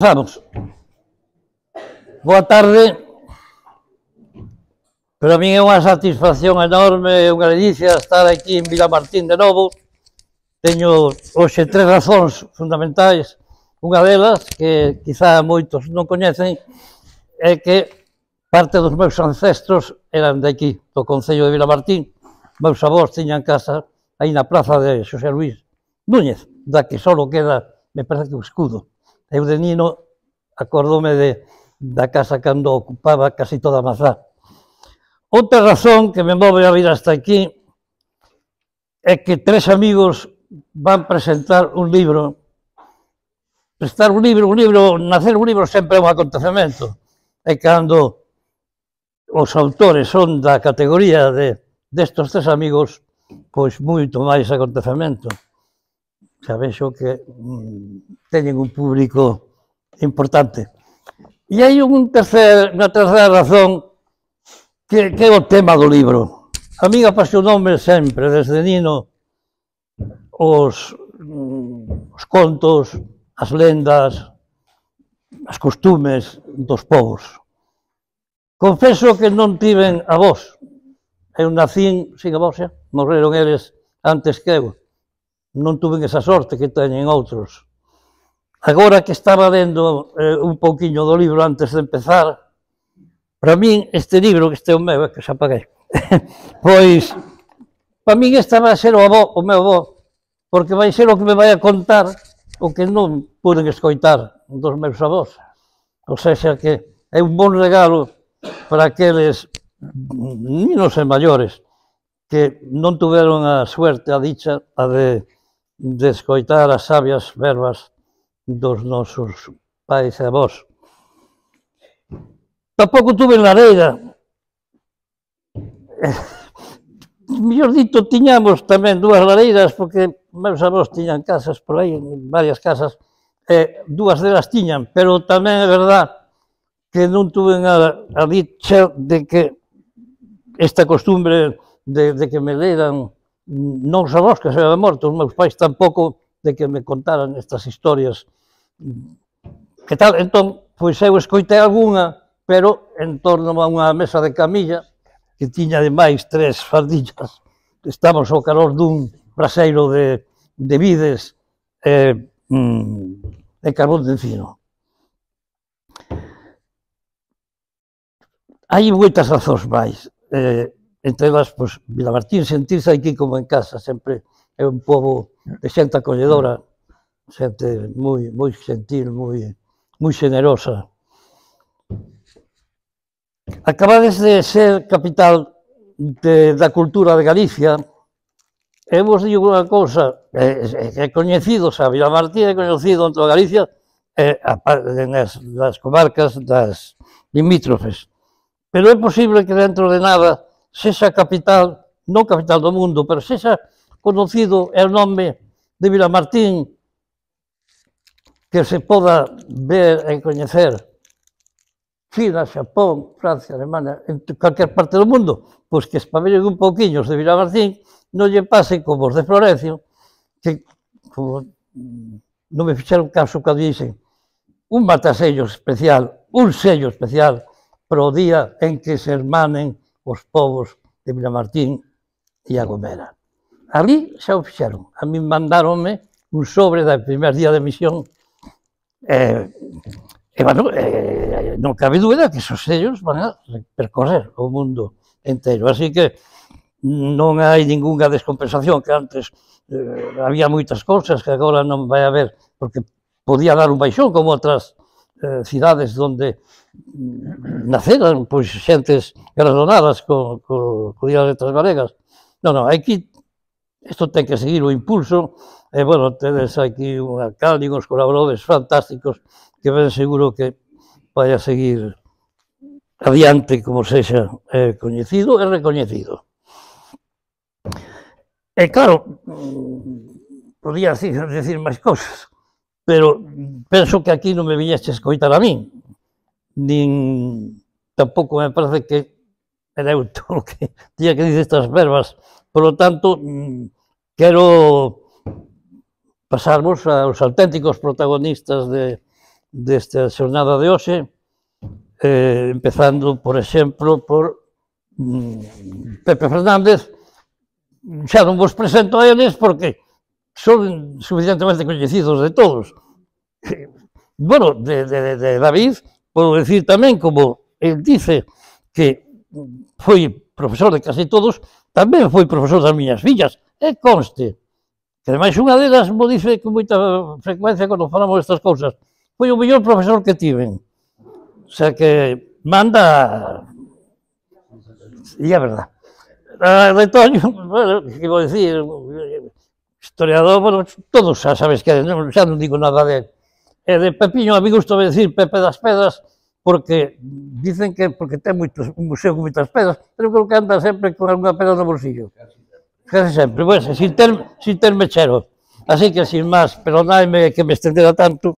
Vamos. Boa tarde. Para min é unha satisfacción enorme e unha delicia estar aquí en Vilamartín de novo. Teño hoxe tres razóns fundamentais. Unha delas, que quizá moitos non coñecen, é que parte dos meus ancestros eran de aquí, do concello de Vilamartín. Meus avós tiñan casa aí na praza de Xosé Luís Núñez, da que só queda, me parece que o escudo. Eu de nino acordome da casa cando ocupaba casi toda a Mazá. Outra razón que me move a vir hasta aquí é que tres amigos van presentar un libro. Nacer un libro sempre é un acontecemento. E cando os autores son da categoría destos tres amigos, pois moito máis acontecemento. Xa vexo que teñen un público importante. E hai unha terceira razón que é o tema do libro. A min apasionoume sempre, desde nino, os contos, as lendas, as costumes dos povos. Confeso que non tiven avós. Eu nacín sin avós, xa. Morreron eles antes que eu. Non tuven esa sorte que teñen outros. Agora que estaba lendo un pouquiño do libro antes de empezar, para min este libro, que este é o meu, que xa paguei, pois, para min este vai ser o meu avó, porque vai ser o que me vai a contar o que non puden escoitar dos meus avós. Ou seja, que é un bon regalo para aqueles ninos e maiores que non tuveron a suerte, a dicha, de escoitar as sabias verbas dos nosos pais e avós. Tampouco tuve lareira. Mellor dito, tiñamos tamén dúas lareiras, porque meus avós tiñan casas por aí, varias casas, e dúas delas tiñan, pero tamén é verdad que non tuven a dicha de que esta costumbre de que me leran non os avós que se habían morto, os meus pais tampouco, de que me contaran estas historias. Que tal? Entón, pois eu escoitei algunha, pero en torno a unha mesa de camilla, que tiña ademais tres fardillas, estamos ao calor dun braseiro de vides e carbón de encino. Hai moitas razóns máis, entre elas, pois, Vilamartín, sentirse aquí como en casa, sempre é un pobo de xente acolledora, xente moi gentil, moi xenerosa. Acabades de ser capital da cultura de Galicia, e vos digo unha cousa, é coñecido, xa, Vilamartín é coñecido en toda Galicia, nas comarcas das limítrofes, pero é posible que dentro de nada sexa capital, non capital do mundo, pero sexa conocido é o nome de Vilamartín que se poda ver e coñecer China, Xapón, Francia, Alemania, en calquer parte do mundo, pois que espabelen un pouquiño os de Vilamartín, non lle pase como os de Florencio, que non me fixeron caso cando dixen un matasello especial, un sello especial para o día en que se hermanen os povos de Vilamartín e A Gomera. Ali xa o fixeron. A min mandáronme un sobre do primer día de misión e, bueno, non cabe dúbida que esos sellos van a percorrer o mundo inteiro. Así que non hai ningunha descompensación, que antes había moitas cousas que agora non vai haber, porque podía dar un baixón como outras cidades onde naceran pois xentes galardonadas co Día das Letras Galegas. Non, aquí isto ten que seguir o impulso, e, bueno, tedes aquí un alcalde e uns colaboradores fantásticos que ben seguro que vai a seguir adiante como sexa coñecido e recoñecido. E, claro, podía decir máis cousas, pero penso que aquí non me viñeste a escoitar a min, nin tampouco me parece que era eu todo o que tiña que dicir estas verbas. Por lo tanto, quero pasarvos aos auténticos protagonistas desta xornada de hoxe, empezando, por exemplo, por Pepe Fernández. Xa non vos presento a eles porque son suficientemente coñecidos de todos. Bueno, de David, podo decir tamén, como el dice que foi profesor de casi todos, tamén foi profesor das miñas fillas, e conste, que ademais unha delas mo dice con moita frecuencia cando falamos destas cousas, foi o mellor profesor que tiven. O sea que manda... E é verdad. De Toño, bueno, que vou dicir, historiador, bueno, todos xa sabes que xa non digo nada de... E de Pepiño, a mí gusta decir Pepe das Pedras, porque dicen que porque ten un museo con moitas pedras, pero creo que anda sempre con alguna pedra no bolsillo. Casi sempre, bueno, sin ter mechero. Así que, sin máis, perdonadme que me estendera tanto.